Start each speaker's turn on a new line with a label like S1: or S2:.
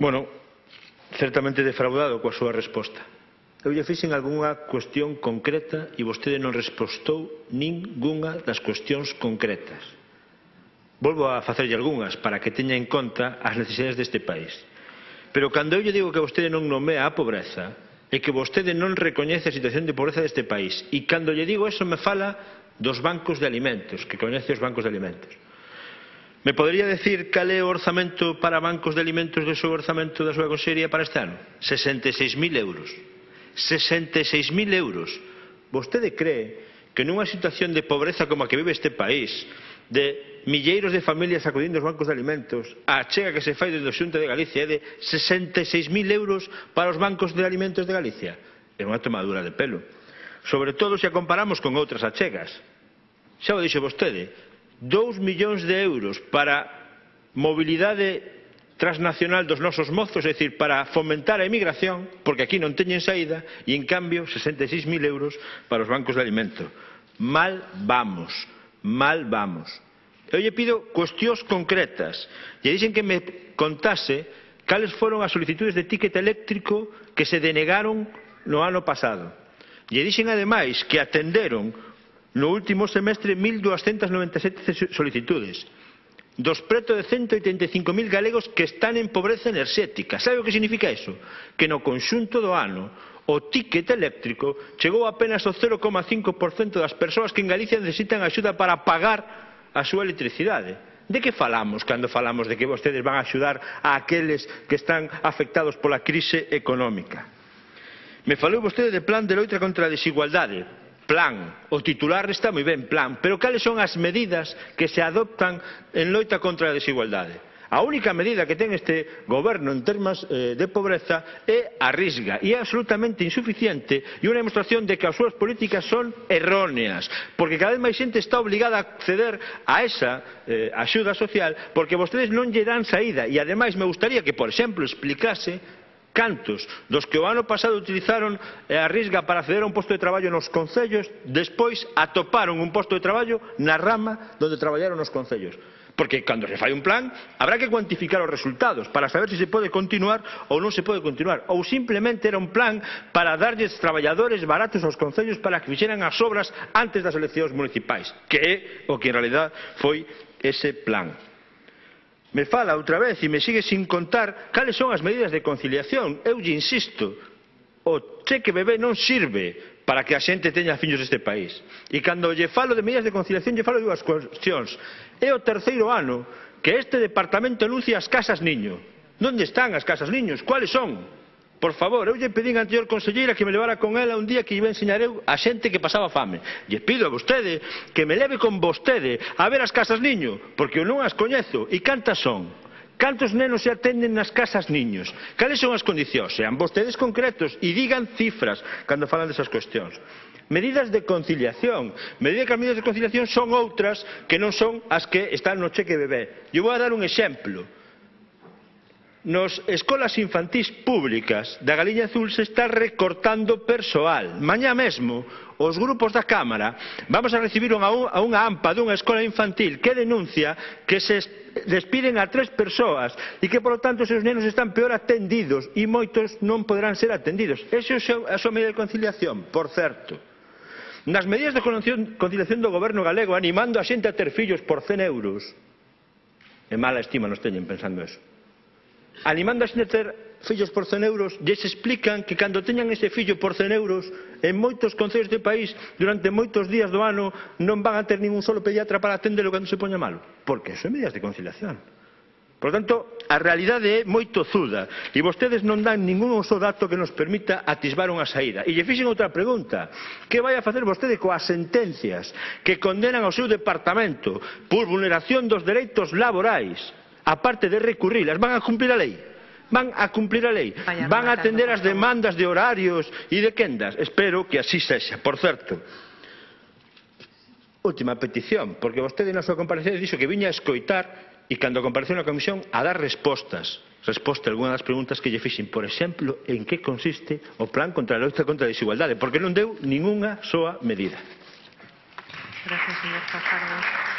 S1: Bueno, certamente defraudado coa súa resposta. Eu lle fixen algunha cuestión concreta e vostede non respostou ningunha das cuestións concretas. Volvo a facerlle algunhas para que teña en conta as necesidades deste país. Pero cando eu lle digo que vostede non nomea a pobreza, é que vostede non recoñece a situación de pobreza deste país. E cando lle digo eso me fala dos bancos de alimentos, que coñece os bancos de alimentos. Me podería decir cal é o orzamento para bancos de alimentos do seu orzamento da súa consellería para este ano? 66.000 euros. 66.000 euros. Vostede cree que nunha situación de pobreza como a que vive este país, de milleiros de familias acudindo aos bancos de alimentos, a achega que se fai desde o Xunta de Galicia é de 66.000 euros para os bancos de alimentos de Galicia? É unha tomadura de pelo. Sobre todo se a comparamos con outras achegas. Xa o dixo vostede, 2 millóns de euros para mobilidade transnacional dos nosos mozos, é dicir, para fomentar a emigración, porque aquí non teñen saída, e en cambio 66.000 euros para os bancos de alimento. Mal vamos, mal vamos. Eu lle pido cuestións concretas. Lle dixen que me contase cales foron as solicitudes de ticket eléctrico que se denegaron no ano pasado. Lle dixen ademais que atenderon no último semestre 1.297 solicitudes. Dos preto de 185.000 galegos que están en pobreza enerxética. Sabe o que significa iso? Que no conxunto do ano o ticket eléctrico chegou apenas ao 0,5% das persoas que en Galicia necesitan axuda para pagar a súa electricidade. De que falamos cando falamos de que vostedes van a axudar a aqueles que están afectados pola crise económica? Me falou vostede de plan de loita contra a desigualdade. Plan, o titular está moi ben, plan, pero cales son as medidas que se adoptan en loita contra a desigualdade? A única medida que ten este goberno en termos de pobreza é a Risga, e é absolutamente insuficiente e unha demostración de que as súas políticas son erróneas, porque cada vez máis xente está obligada a acceder a esa axuda social porque vostedes non lle dan saída. E ademais me gustaría que, por exemplo, explicase cantos dos que o ano pasado utilizaron a Risga para acceder a un posto de traballo nos concellos despois atoparon un posto de traballo na rama onde traballaron nos concellos. Porque cando se fai un plan habrá que cuantificar os resultados para saber se pode continuar ou non se pode continuar, ou simplemente era un plan para darlles traballadores baratos aos concellos para que fixeran as obras antes das eleccións municipais, que é o que en realidad foi ese plan. Me fala outra vez e me sigue sin contar cales son as medidas de conciliación. Eu lle insisto, o cheque bebé non sirve para que a xente teña fillos neste país. E cando lle falo de medidas de conciliación, lle falo de dúas cuestións. É o terceiro ano que este departamento anuncia as casas niño. Onde están as casas niños? Cuáles son? Por favor, eu lle pedín a anterior conselleira que me levara con ela un día que iba a enseñar eu a xente que pasaba fame. Lle pido a vostede que me leve con vostede a ver as casas niño, porque eu non as coñezo. E cantas son? Cantos nenos se atenden nas casas niños? Cales son as condicións? Sean vostedes concretos e digan cifras cando falan desas cuestións. Medidas de conciliación. Medidas de conciliación son outras que non son as que están no cheque bebé. Eu vou a dar un exemplo. Nos escolas infantís públicas da Galiña Azul se está recortando persoal. Mañá mesmo, os grupos da Cámara vamos a recibir a unha AMPA dunha escola infantil que denuncia que se despiden a 3 persoas e que, por lo tanto, os seus nenos están peor atendidos e moitos non poderán ser atendidos. Esa é a súa medida de conciliación, por certo. Nas medidas de conciliación do goberno galego animando a xente a ter fillos por 100 euros. En mala estima nos teñen pensando eso. Animando a xente a ter fillos por 100 euros, lles explican que cando teñan ese fillo por 100 euros, en moitos concellos do país, durante moitos días do ano, non van a ter ningún solo pediatra para atendelo cando se poña malo. Porque eso é medidas de conciliación. Por tanto, a realidade é moi tozuda e vostedes non dan ningún só dato que nos permita atisbar unha saída. E lle fixen outra pregunta. Que vai a facer vostede coas sentencias que condenan ao seu departamento por vulneración dos dereitos laborais? Aparte de recurrilas, van a cumplir a lei? Van a cumplir a lei? Van a atender as demandas de horarios e de quendas? Espero que así sexa. Por certo, última petición, porque vostede na súa comparecencia dixo que viña a escoitar e cando compareceu na comisión a dar respostas. resposta a algunha das preguntas que lle fixen. Por exemplo, en que consiste o plan contra a loita contra a desigualdade, porque non deu ningunha soa medida.
S2: Gracias, señor Fajardo.